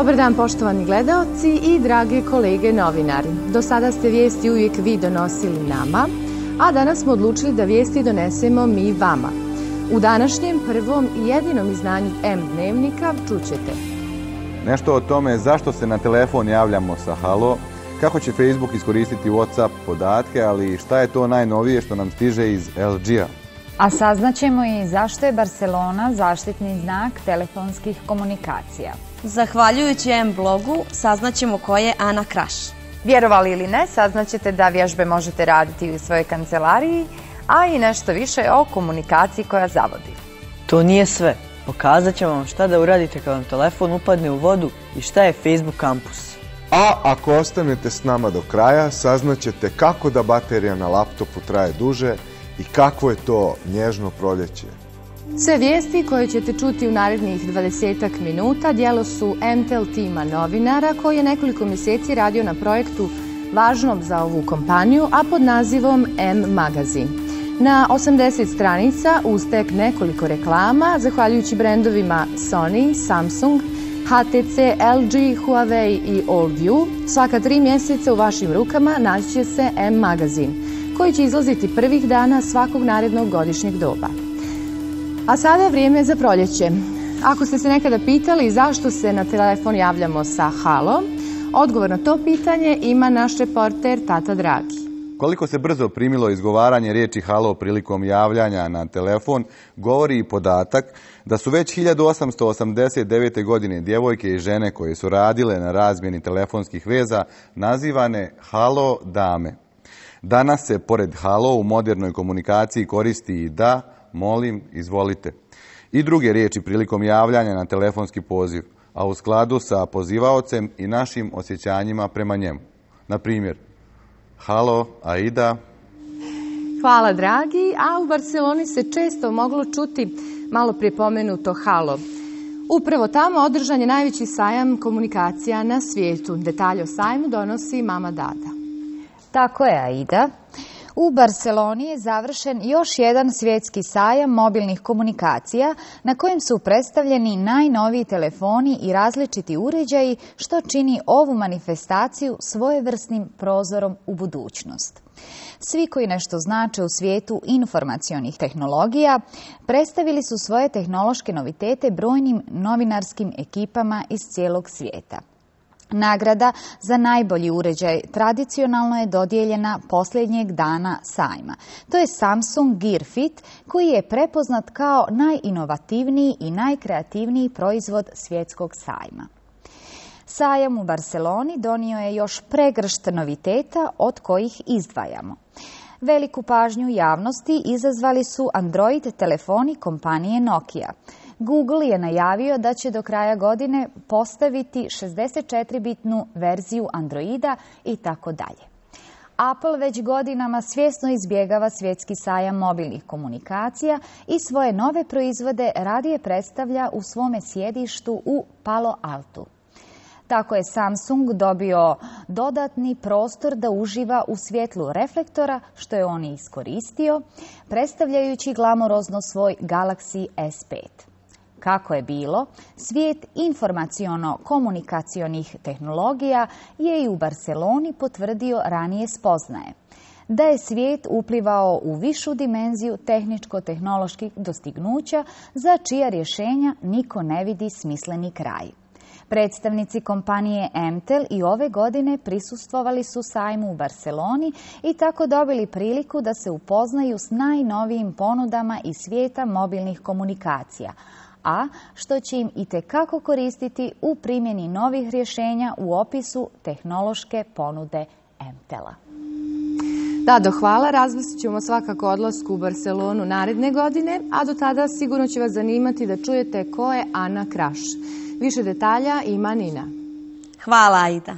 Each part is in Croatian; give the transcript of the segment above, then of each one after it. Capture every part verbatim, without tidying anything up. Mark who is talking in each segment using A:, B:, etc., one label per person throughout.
A: Dobar dan poštovani gledaoci i drage kolege novinari. Do sada ste vijesti uvijek vi donosili nama, a danas smo odlučili da vijesti donesemo mi vama. U današnjem prvom i jedinom izdanju M dnevnika čućete
B: nešto o tome zašto se na telefon javljamo sa halo, kako će Facebook iskoristiti WhatsApp podatke, ali šta je to najnovije što nam stiže iz L G-a.
C: A saznaćemo i zašto je Barcelona zaštitni znak telefonskih komunikacija.
D: Zahvaljujući M blogu saznaćemo ko je Ana Kraš.
C: Vjerovali ili ne, saznaćete da vježbe možete raditi u svojoj kancelariji, a i nešto više o komunikaciji koja zavodi.
E: To nije sve. Pokazat ćemo vam šta da uradite kad vam telefon upadne u vodu i šta je Facebook kampus.
F: A ako ostanete s nama do kraja, saznaćete kako da baterija na laptopu traje duže i kakvo je to nježno proljeće.
A: Sve vijesti koje ćete čuti u narednih dvadesetak minuta djelo su M T L tima novinara koji je nekoliko mjeseci radio na projektu važnom za ovu kompaniju, a pod nazivom M magazin. Na osamdeset stranica uz tek nekoliko reklama, zahvaljujući brendovima Sony, Samsung, H T C, L G, Huawei i Allview, svaka tri mjeseca u vašim rukama naći će se M magazin, koji će izlaziti prvih dana svakog narednog godišnjeg doba. A sada vrijeme za proljeće. Ako ste se nekada pitali zašto se na telefon javljamo sa halo, odgovor na to pitanje ima naš reporter Tata Dragi.
B: Koliko se brzo primilo izgovaranje riječi halo prilikom javljanja na telefon, govori i podatak da su već hiljadu osamsto osamdeset devete. godine djevojke i žene koje su radile na razmjeni telefonskih veza nazivane halo dame. Danas se pored halo u modernoj komunikaciji koristi i da, molim, izvolite i druge riječi prilikom javljanja na telefonski poziv, a u skladu sa pozivaocem i našim osjećanjima prema njemu. Na primjer, halo, Aida.
A: Hvala dragi, a u Barceloni se često moglo čuti malo prije pomenuto halo. Upravo tamo održan je najveći sajam komunikacija na svijetu. Detalje o sajmu donosi mama Dada.
C: Tako je, Aida. U Barceloni je završen još jedan svjetski sajam mobilnih komunikacija na kojem su predstavljeni najnoviji telefoni i različiti uređaji, što čini ovu manifestaciju svojevrsnim prozorom u budućnost. Svi koji nešto znače u svijetu informacionih tehnologija predstavili su svoje tehnološke novitete brojnim novinarskim ekipama iz cijelog svijeta. Nagrada za najbolji uređaj tradicionalno je dodijeljena posljednjeg dana sajma. To je Samsung Gear Fit, koji je prepoznat kao najinovativniji i najkreativniji proizvod svjetskog sajma. Sajam u Barceloni donio je još pregršt noviteta od kojih izdvajamo. Veliku pažnju javnosti izazvali su Android telefoni kompanije Nokia. Google je najavio da će do kraja godine postaviti šezdeset četiri bitnu verziju Androida i tako dalje. Apple već godinama svjesno izbjegava svjetski sajam mobilnih komunikacija i svoje nove proizvode radije predstavlja u svome sjedištu u Palo Altu. Tako je Samsung dobio dodatni prostor da uživa u svjetlu reflektora, što je on iskoristio, predstavljajući glamurozno svoj Galaxy S pet. Kako je bilo, svijet informaciono-komunikacionih tehnologija je i u Barceloni potvrdio ranije spoznaje. Da je svijet uplivao u višu dimenziju tehničko-tehnoloških dostignuća za čija rješenja niko ne vidi smisleni kraj. Predstavnici kompanije M T L i ove godine prisustvovali su sajmu u Barceloni i tako dobili priliku da se upoznaju s najnovijim ponudama iz svijeta mobilnih komunikacija, a što će im itekako koristiti u primjeni novih rješenja u opisu tehnološke ponude M T L-a.
A: Dado, hvala. Razmislit ćemo svakako odlasku u Barcelonu naredne godine, a do tada sigurno će vas zanimati da čujete ko je Ana Kraš. Više detalja ima Nina.
D: Hvala, Aida.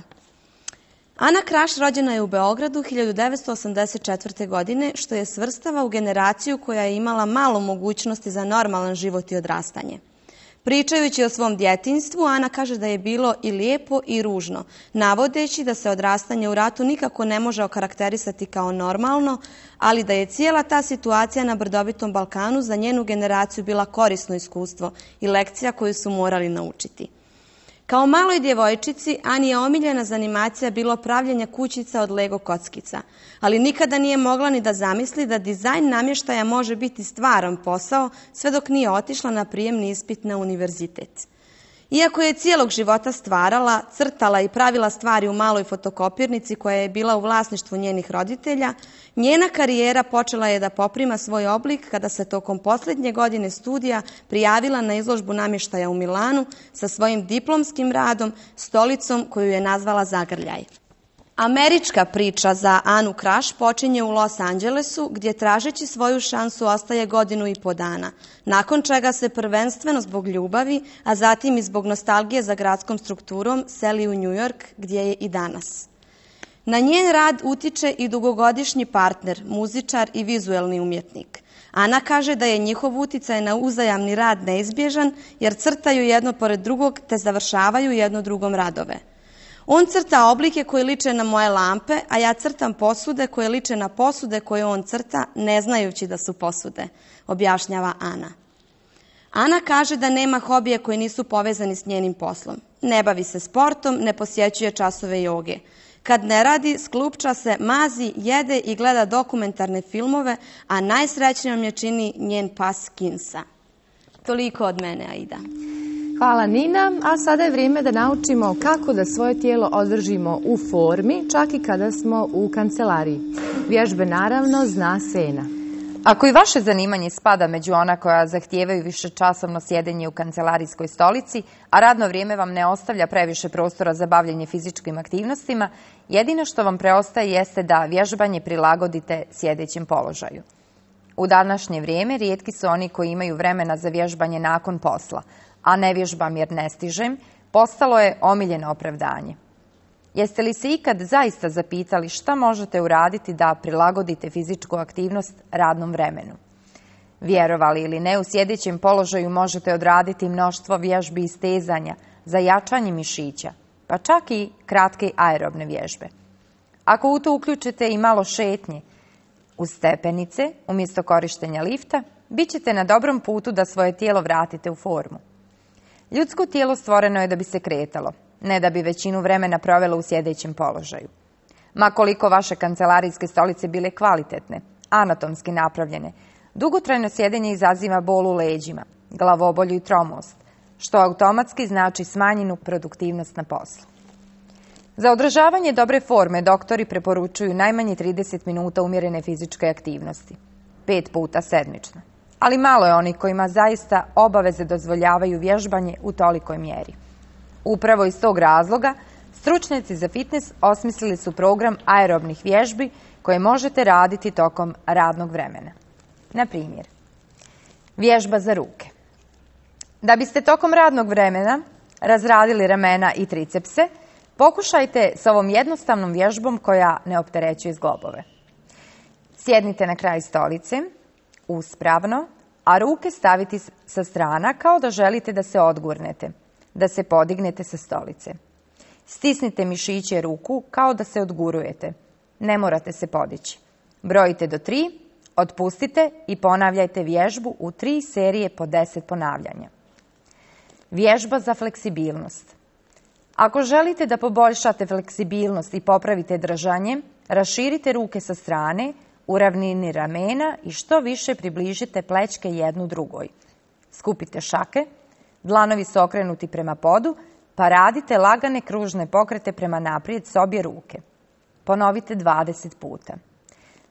D: Ana Kraš rođena je u Beogradu hiljadu devetsto osamdeset četvrte. godine, što je svrstava u generaciju koja je imala malo mogućnosti za normalan život i odrastanje. Pričajući o svom djetinjstvu, Ana kaže da je bilo i lijepo i ružno, navodeći da se odrastanje u ratu nikako ne može okarakterisati kao normalno, ali da je cijela ta situacija na brdovitom Balkanu za njenu generaciju bila korisno iskustvo i lekcija koju su morali naučiti. Kao maloj djevojčici, Ani je omiljena zanimacija bilo pravljenje kućica od Lego kockica, ali nikada nije mogla ni da zamisli da dizajn namještaja može biti stvaran posao sve dok nije otišla na prijemni ispit na univerzitet. Iako je cijelog života stvarala, crtala i pravila stvari u maloj fotokopirnici koja je bila u vlasništvu njenih roditelja, njena karijera počela je da poprima svoj oblik kada se tokom posljednje godine studija prijavila na izložbu namještaja u Milanu sa svojim diplomskim radom, stolicom koju je nazvala Zagrljaj. Američka priča za Anu Kraš počinje u Los Angelesu, gdje tražeći svoju šansu ostaje godinu i po dana, nakon čega se prvenstveno zbog ljubavi, a zatim i zbog nostalgije za gradskom strukturom seli u New York, gdje je i danas. Na njen rad utiče i dugogodišnji partner, muzičar i vizuelni umjetnik. Ana kaže da je njihov uticaj na uzajamni rad neizbježan, jer crtaju jedno pored drugog te završavaju jedno drugom radove. On crta oblike koje liče na moje lampe, a ja crtam posude koje liče na posude koje on crta, ne znajući da su posude, objašnjava Ana. Ana kaže da nema hobije koji nisu povezani s njenim poslom. Ne bavi se sportom, ne posjećuje časove joge. Kad ne radi, sklupča se, mazi, jede i gleda dokumentarne filmove, a najsrećnijom je čini njen pas Kinsa. Toliko od mene, Aida.
A: Hvala Nina, a sada je vrijeme da naučimo kako da svoje tijelo održimo u formi, čak i kada smo u kancelariji. Vježbe naravno zna Sena.
C: Ako i vaše zanimanje spada među ona koja zahtijevaju višečasovno sjedenje u kancelarijskoj stolici, a radno vrijeme vam ne ostavlja previše prostora za bavljenje fizičkim aktivnostima, jedino što vam preostaje jeste da vježbanje prilagodite sjedećem položaju. U današnje vrijeme rijetki su oni koji imaju vremena za vježbanje nakon posla, a ne vježbam jer ne stižem, postalo je omiljeno opravdanje. Jeste li se ikad zaista zapitali šta možete uraditi da prilagodite fizičku aktivnost radnom vremenu? Vjerovali ili ne, u sjedećem položaju možete odraditi mnoštvo vježbi i stezanja za jačanje mišića, pa čak i kratke aerobne vježbe. Ako u to uključite i malo šetnje uz stepenice umjesto korištenja lifta, bit ćete na dobrom putu da svoje tijelo vratite u formu. Ljudsko tijelo stvoreno je da bi se kretalo, ne da bi većinu vremena provelo u sjedećem položaju. Ma koliko vaše kancelarijske stolice bile kvalitetne, anatomski napravljene, dugotrajno sjedenje izaziva bol u leđima, glavobolju i tromost, što automatski znači smanjenu produktivnost na poslu. Za održavanje dobre forme doktori preporučuju najmanje trideset minuta umjerene fizičke aktivnosti, pet puta sedmično. Ali malo je onih kojima zaista obaveze dozvoljavaju vježbanje u tolikoj mjeri. Upravo iz tog razloga stručnjaci za fitness osmislili su program aerobnih vježbi koje možete raditi tokom radnog vremena. Na primjer, vježba za ruke. Da biste tokom radnog vremena razradili ramena i tricepse, pokušajte s ovom jednostavnom vježbom koja ne opterećuje zglobove. Sjednite na kraj stolice, uspravno, a ruke staviti sa strana kao da želite da se odgurnete, da se podignete sa stolice. Stisnite mišiće ruku kao da se odgurujete. Ne morate se podići. Brojite do tri, otpustite i ponavljajte vježbu u tri serije po deset ponavljanja. Vježba za fleksibilnost. Ako želite da poboljšate fleksibilnost i popravite držanje, raširite ruke sa strane, u ravnini ramena i što više približite plećke jednu drugoj. Skupite šake, dlanovi su okrenuti prema podu, pa radite lagane kružne pokrete prema naprijed s obje ruke. Ponovite dvadeset puta.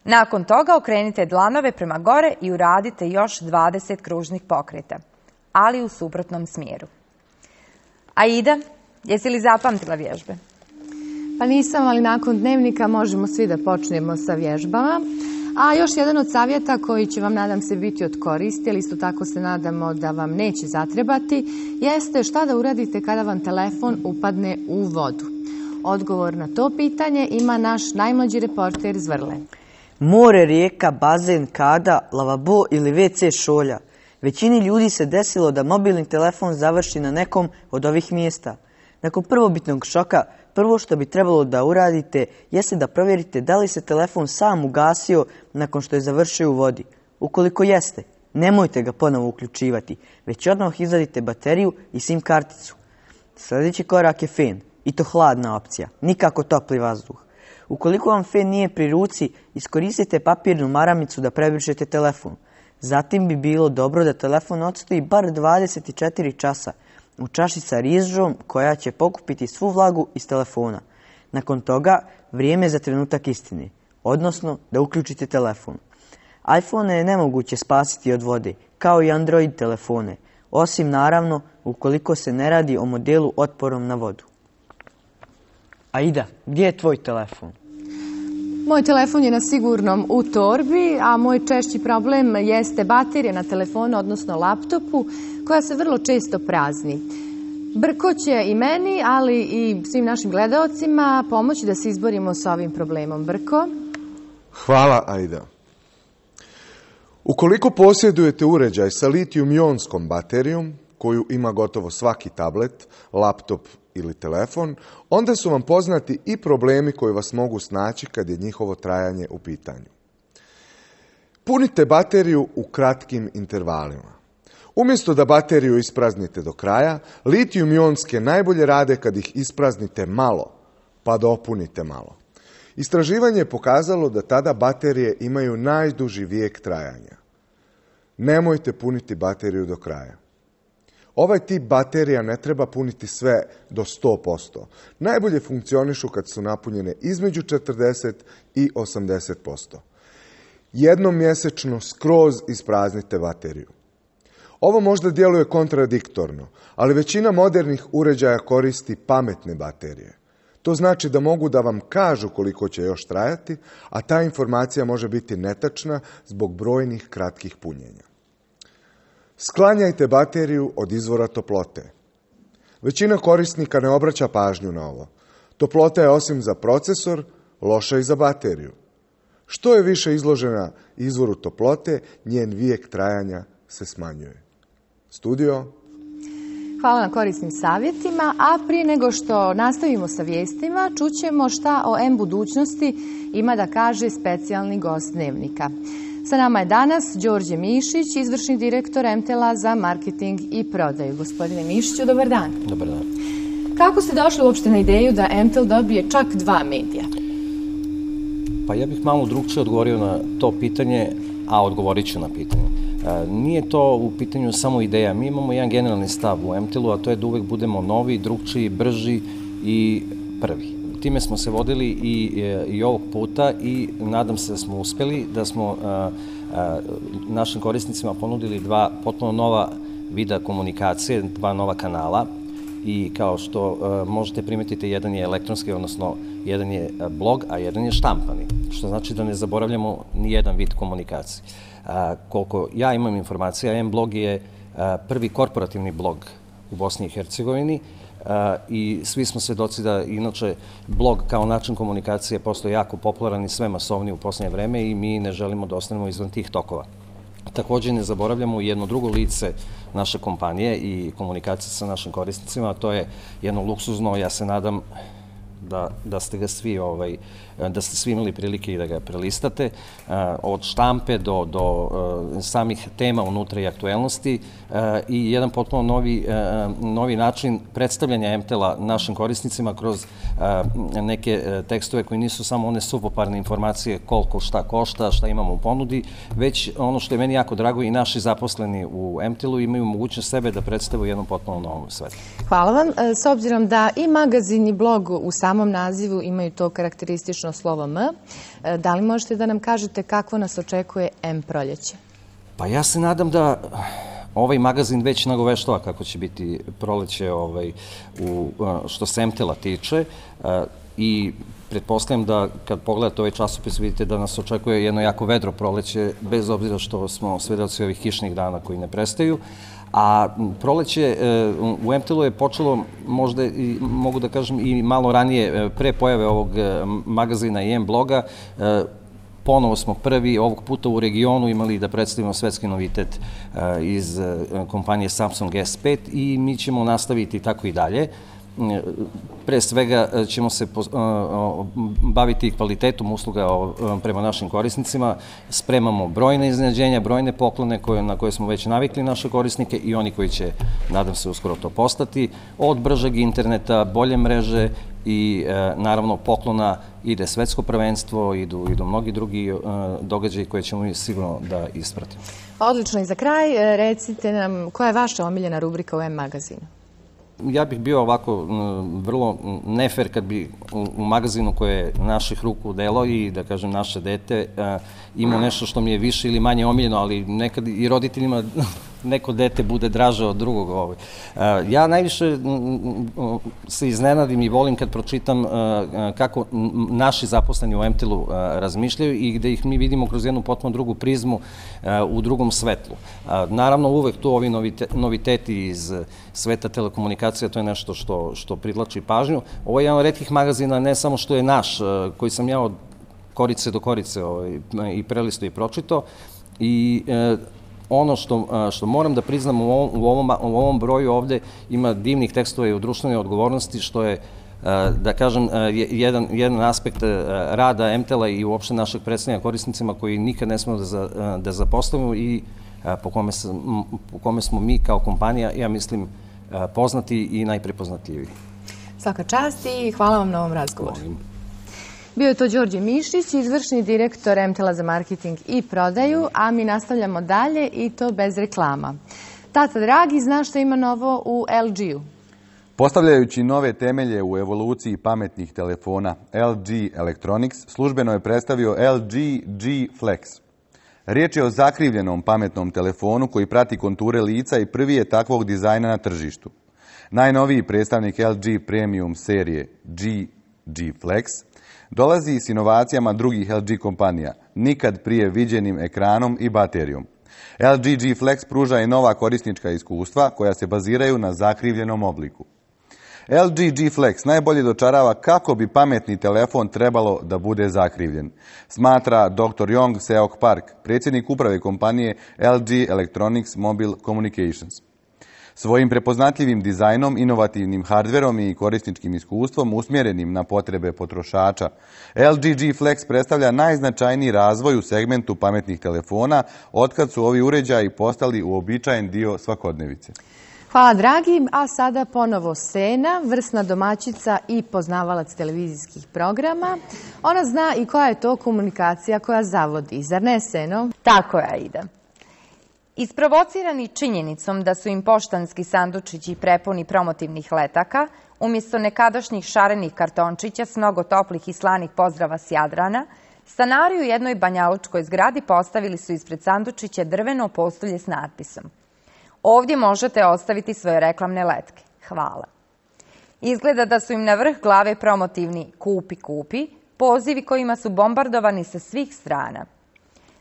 C: Nakon toga okrenite dlanove prema gore i uradite još dvadeset kružnih pokreta, ali u suprotnom smjeru. Aida, jesi li zapamtila vježbe?
A: Pa nisam, ali nakon dnevnika možemo svi da počnemo sa vježbama. A još jedan od savjeta koji će vam, nadam se, biti od koristi, ali isto tako se nadamo da vam neće zatrebati, jeste šta da uradite kada vam telefon upadne u vodu. Odgovor na to pitanje ima naš najmlađi reporter Zvrle.
E: More, rijeka, bazen, kada, lavabo ili ve ce šolja. Većini ljudi se desilo da mobilni telefon završi na nekom od ovih mjesta. Nakon prvobitnog šoka, prvo što bi trebalo da uradite jeste da provjerite da li se telefon sam ugasio nakon što je završio u vodi. Ukoliko jeste, nemojte ga ponovo uključivati, već odmah izvadite bateriju i sim karticu. Sljedeći korak je fen, i to hladna opcija, nikako topli vazduh. Ukoliko vam fen nije pri ruci, iskoristite papirnu maramicu da prebrišete telefon. Zatim bi bilo dobro da telefon odstoji bar dvadeset četiri časa u čaši sa rižom koja će pokupiti svu vlagu iz telefona. Nakon toga, vrijeme za trenutak istine, odnosno da uključite telefon. iPhone je nemoguće spasiti od vode, kao i Android telefone, osim naravno ukoliko se ne radi o modelu otporom na vodu. Aida, gdje je tvoj telefon?
A: Moj telefon je na sigurnom u torbi, a moj češći problem jeste baterija na telefonu, odnosno laptopu, koja se vrlo često prazni. Brko će i meni, ali i svim našim gledaocima pomoći da se izborimo sa ovim problemom. Brko?
F: Hvala, Aida. Ukoliko posjedujete uređaj sa litijum-ionskom baterijom, koju ima gotovo svaki tablet, laptop ili telefon, onda su vam poznati i problemi koji vas mogu snaći kad je njihovo trajanje u pitanju. Punite bateriju u kratkim intervalima. Umjesto da bateriju ispraznite do kraja, litijum-ionske najbolje rade kad ih ispraznite malo, pa dopunite malo. Istraživanje je pokazalo da tada baterije imaju najduži vijek trajanja. Nemojte puniti bateriju do kraja. Ovaj tip baterija ne treba puniti sve do sto posto. Najbolje funkcionišu kad su napunjene između četrdeset i osamdeset posto. Jednom mjesečno skroz ispraznite bateriju. Ovo možda djeluje kontradiktorno, ali većina modernih uređaja koristi pametne baterije. To znači da mogu da vam kažu koliko će još trajati, a ta informacija može biti netačna zbog brojnih kratkih punjenja. Sklanjajte bateriju od izvora toplote. Većina korisnika ne obraća pažnju na ovo. Toplota je osim za procesor, loša i za bateriju. Što je više izložena izvoru toplote, njen vijek trajanja se smanjuje. Studio?
A: Hvala na korisnim savjetima, a prije nego što nastavimo sa vijestima, čućemo šta o M budućnosti ima da kaže specijalni gost Dnevnika. Sa nama je danas Đorđe Mišić, izvršni direktor M T L-a za marketing i prodaju. Gospodine Mišiću, dobar dan.
G: Dobar dan.
A: Kako ste došli uopšte na ideju da M T L dobije čak dva medija?
G: Pa ja bih malo drugčije odgovorio na to pitanje, a odgovorit ću na pitanje. Nije to u pitanju samo ideja. Mi imamo jedan generalni stav u M T L-u, a to je da uvek budemo novi, drugčiji, brži i prvi. Time smo se vodili i, i ovog puta i nadam se da smo uspjeli, da smo a, a, našim korisnicima ponudili dva potpuno nova vida komunikacije, dva nova kanala i kao što a, možete primetiti, jedan je elektronski, odnosno jedan je blog, a jedan je štampani, što znači da ne zaboravljamo ni jedan vid komunikacije. A, koliko ja imam informacija, M-blog je a, prvi korporativni blog u Bosni i Hercegovini, Uh, i svi smo svedoci da inače blog kao način komunikacije postoje jako popularan i sve masovni u posljednje vreme i mi ne želimo da ostanemo izvan tih tokova. Također ne zaboravljamo jedno drugo lice naše kompanije i komunikacije sa našim korisnicima, a to je jedno luksuzno, ja se nadam da, da ste ga svi ovaj, da ste svi imali prilike i da ga prelistate, od štampe do, do samih tema unutra i aktuelnosti i jedan potpuno novi, novi način predstavljanja M T L-a našim korisnicima kroz neke tekstove koji nisu samo one suvoparne informacije koliko šta košta, šta imamo u ponudi, već ono što je meni jako drago i naši zaposleni u M T L-u imaju mogućnost sebe da predstave u jednom potpuno novom svetu.
A: Hvala vam. S obzirom da i magazin i blog u samom nazivu imaju to karakteristično slovo M, da li možete da nam kažete kako nas očekuje M proljeće?
G: Pa ja se nadam da ovaj magazin već nagoveštava kako će biti proleće ovaj, u, što se M T L-a tiče i pretpostavljam da kad pogledate ovaj časopis vidite da nas očekuje jedno jako vedro proleće, bez obzira što smo svedoci ovih kišnih dana koji ne prestaju. A proleće u M T L-u je počelo, možda i, mogu da kažem, i malo ranije, pre pojave ovog magazina i M-bloga. Ponovo smo prvi ovog puta u regionu imali da predstavimo svetski novitet iz kompanije Samsung S pet i mi ćemo nastaviti tako i dalje. pre svega ćemo se baviti kvalitetom usluga prema našim korisnicima, spremamo brojne iznenađenja, brojne poklone na koje smo već navikli naše korisnike i oni koji će, nadam se, uskoro to postati, od bržeg interneta, bolje mreže i naravno poklona ide svetsko prvenstvo, idu, idu mnogi drugi događaji koje ćemo mi sigurno da ispratimo.
A: Odlično, i za kraj recite nam koja je vaša omiljena rubrika u M magazinu?
G: Ja bih bio ovako vrlo nefer kad bi u magazinu koje je naših ruku delo i, da kažem, naše dete imao nešto što mi je više ili manje omiljeno, ali nekad i roditeljima neko dete bude draže od drugog. Ja najviše se iznenadim i volim kad pročitam kako naši zaposleni u Emtelu razmišljaju i gde ih mi vidimo kroz jednu potpuno drugu prizmu, u drugom svetlu. Naravno, uvek tu ovi noviteti iz sveta telekomunikacija, to je nešto što privlači pažnju. Ovo je jedan od retkih magazina, ne samo što je naš, koji sam ja od korice do korice i prelisto i pročito, i ono što moram da priznam u ovom broju ovde ima divnih tekstova i u društvenoj odgovornosti, što je, da kažem, jedan aspekt rada Emtela i uopšte našeg predstavljanja korisnicima koji nikad ne smemo da zapostavimo i po kome smo mi kao kompanija, ja mislim, poznati i najprepoznatljiviji.
A: Svaka čast i hvala vam na ovom razgovoru. Bio je to Đorđe Mišić, izvršni direktor Emtela za marketing i prodaju, a mi nastavljamo dalje i to bez reklama. Tata dragi, zna što ima novo u L G-u?
B: Postavljajući nove temelje u evoluciji pametnih telefona, L G Electronics službeno je predstavio L G G Flex. Riječ je o zakrivljenom pametnom telefonu koji prati konture lica i prvi je takvog dizajna na tržištu. Najnoviji predstavnik L G Premium serije G G Flex dolazi s inovacijama drugih L G kompanija, nikad prije viđenim ekranom i baterijom. L G G Flex pruža i nova korisnička iskustva koja se baziraju na zakrivljenom obliku. L G G Flex najbolje dočarava kako bi pametni telefon trebalo da bude zakrivljen, smatra doktor Yong Seok Park, predsjednik uprave kompanije L G Electronics Mobile Communications. Svojim prepoznatljivim dizajnom, inovativnim hardverom i korisničkim iskustvom usmjerenim na potrebe potrošača, L G G Flex predstavlja najznačajniji razvoj u segmentu pametnih telefona otkad su ovi uređaji postali uobičajen dio svakodnevice.
A: Hvala dragi, a sada ponovo Sena, vrsna domaćica i poznavalac televizijskih programa. Ona zna i koja je to komunikacija koja zavodi, zar ne, Seno?
C: Tako je, Aida. Isprovocirani činjenicom da su im poštanski sandučići prepuni promotivnih letaka, umjesto nekadašnjih šarenih kartončića s mnogo toplih i slanih pozdrava s Jadrana, stanari u jednoj banjalučkoj zgradi postavili su ispred sandučića drveno postolje s natpisom: "Ovdje možete ostaviti svoje reklamne letke. Hvala." Izgleda da su im na vrh glave promotivni "Kupi, kupi", pozivi kojima su bombardovani sa svih strana.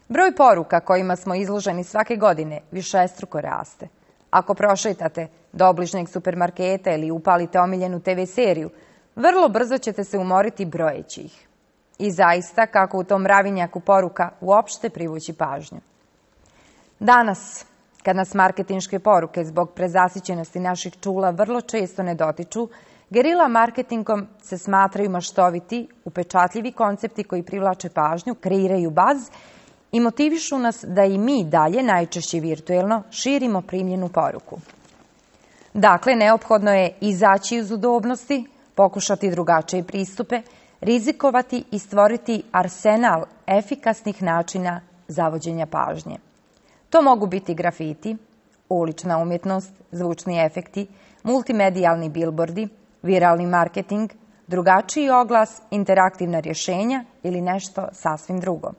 C: Broj poruka kojima smo izloženi svake godine višestruko raste. Ako prošetate do obližnjeg supermarketa ili upalite omiljenu te ve seriju, vrlo brzo ćete se umoriti brojeći ih. I zaista, kako u tom mravinjaku poruka uopšte privući pažnju. Danas, kad nas marketinške poruke zbog prezasićenosti naših čula vrlo često ne dotiču, gerila marketingom se smatraju maštoviti, upečatljivi koncepti koji privlače pažnju, kreiraju baz i motivišu nas da i mi dalje, najčešće virtuelno, širimo primljenu poruku. Dakle, neophodno je izaći iz udobnosti, pokušati drugačije pristupe, rizikovati i stvoriti arsenal efikasnih načina zavođenja pažnje. To mogu biti grafiti, ulična umjetnost, zvučni efekti, multimedijalni bilbordi, viralni marketing, drugačiji oglas, interaktivna rješenja ili nešto sasvim drugo.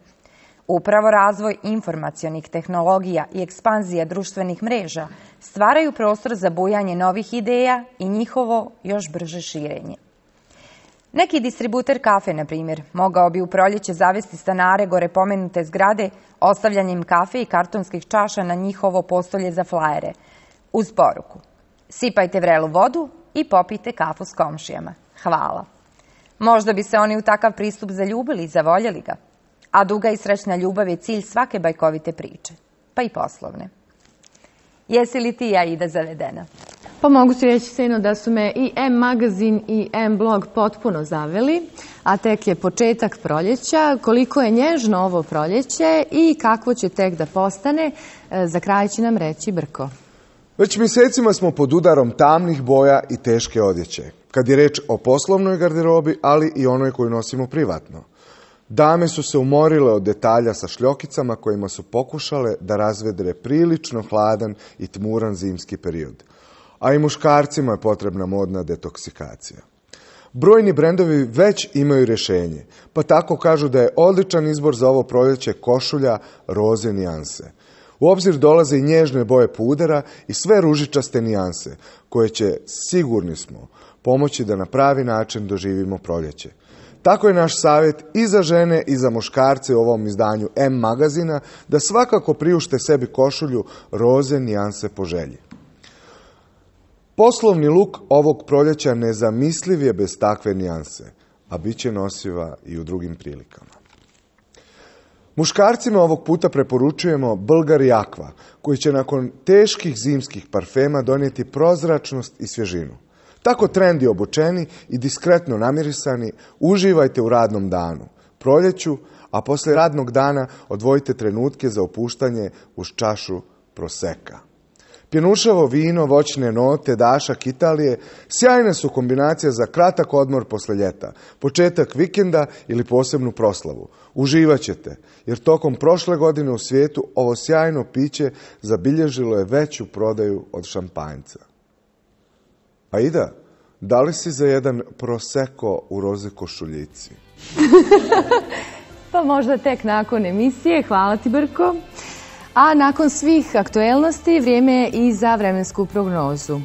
C: Upravo razvoj informacionih tehnologija i ekspanzija društvenih mreža stvaraju prostor za bujanje novih ideja i njihovo još brže širenje. Neki distributer kafe, na primjer, mogao bi u proljeće zavesti stanare gore pomenute zgrade ostavljanjem kafe i kartonskih čaša na njihovo postolje za flajere, uz poruku: "Sipajte vrelu vodu i popijte kafu s komšijama. Hvala." Možda bi se oni u takav pristup zaljubili i zavoljeli ga. A duga i srećna ljubav je cilj svake bajkovite priče, pa i poslovne. Jesi li ti, Aida, zavedena?
A: Pa mogu ti reći, Seno, da su me i M magazin i M blog potpuno zaveli, a tek je početak proljeća. Koliko je nježno ovo proljeće i kakvo će tek da postane, za kraj će nam reći Brko.
F: Već mjesecima smo pod udarom tamnih boja i teške odjeće, kad je reč o poslovnoj garderobi, ali i onoj koju nosimo privatno. Dame su se umorile od detalja sa šljokicama kojima su pokušale da razvedre prilično hladan i tmuran zimski period. A i muškarcima je potrebna modna detoksikacija. Brojni brendovi već imaju rješenje, pa tako kažu da je odličan izbor za ovo proljeće košulja roze nijanse. U obzir dolaze i nježne boje pudera i sve ružičaste nijanse, koje će, sigurni smo, pomoći da na pravi način doživimo proljeće. Tako je naš savjet i za žene i za muškarce u ovom izdanju M magazina da svakako priušte sebi košulju roze nijanse po želji. Poslovni luk ovog proljeća nezamisliv je bez takve nijanse, a bit će nosiva i u drugim prilikama. Muškarcima ovog puta preporučujemo Bulgari Aqua, koji će nakon teških zimskih parfema donijeti prozračnost i svježinu. Tako trendi obučeni i diskretno namirisani uživajte u radnom danu, proljeću, a poslije radnog dana odvojite trenutke za opuštanje uz čašu proseka. Pjenušavo vino, voćne note, dašak Italije sjajne su kombinacije za kratak odmor poslije ljeta, početak vikenda ili posebnu proslavu. Uživat ćete, jer tokom prošle godine u svijetu ovo sjajno piće zabilježilo je veću prodaju od šampanjca. Aida, da li si za jedan prosecco u roze košuljici?
A: Pa možda tek nakon emisije. Hvala ti, Brko. A nakon svih aktuelnosti vrijeme je i za vremensku prognozu.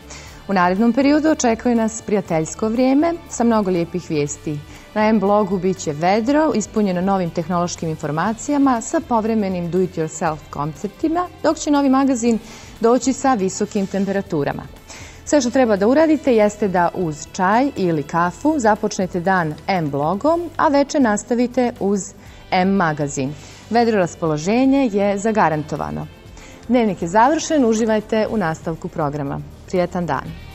A: U narednom periodu očekuje nas prijateljsko vrijeme sa mnogo lijepih vijesti. Na M blogu bit će vedro, ispunjeno novim tehnološkim informacijama sa povremenim do-it-yourself konceptima, dok će novi magazin doći sa visokim temperaturama. Sve što treba da uradite jeste da uz čaj ili kafu započnete dan M blogom, a večer nastavite uz M magazin. Vedro raspoloženje je zagarantovano. Dnevnik je završen, uživajte u nastavku programa. Prijetan dan!